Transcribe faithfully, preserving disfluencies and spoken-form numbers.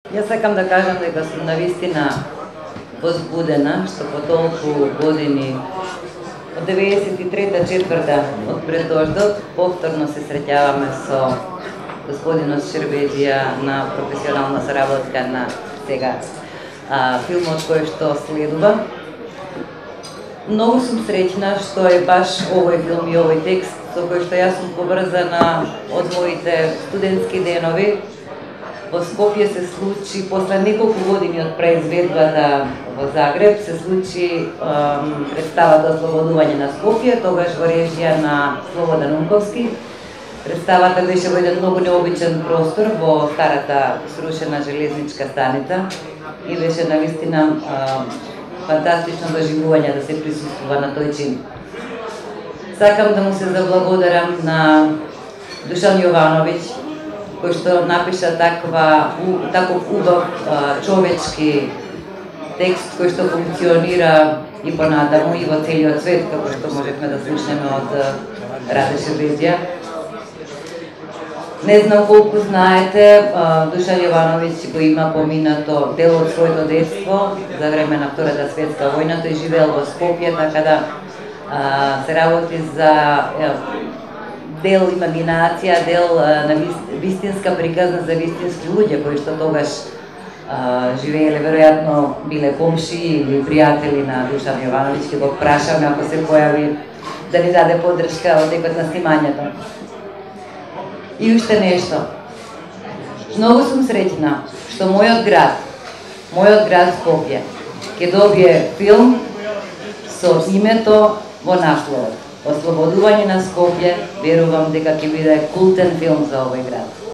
Јас сакам да кажам дека сум навистина возбудена што по толку години од деветдесет и трета четврта од предождот повторно се среќаваме со господинот Шербеджија на професионална соработка на сега а, филмот кој што следува. Многу сум среќна што е баш овој филм и овој текст со кој што јас сум поврзана од моите студентски денови. Во Скопје се случи, после неколку години од преизведбата во Загреб, се случи ем, представата Ослободување на Скопје, тогаш во режија на Слободан Унковски. Представата беше во еден многу необичен простор во старата срушена железничка станица и беше навистина ем, фантастично доживување да се присуствува на тој чин. Сакам да му се заблагодарам на Душан Јовановиќ, кој што напиша таква, таков убав човечки текст кој што функционира и понатаму и во целиот свет, како што можевме да слушнеме од Раде Шербеджија. Не знам колку знаете, Душан Јовановиќ го има поминато дел од своето детство за време на Втората светска војна, тој живеел во Скопје, така да а, се работи за дел имагинација, дел на вистинска приказна за вистински луѓе кои што тогаш а, живееле, веројатно биле комши или пријатели на Душан Јовановиќ. Ќе го прашаме ако се појави да ни даде поддршка од некој на снимањето. И уште нешто. Многу сум среќна што мојот град, мојот град Скопје, ќе добие филм со името во насловот. Ослободување на Скопје, верувам дека ќе биде култен филм за овој град.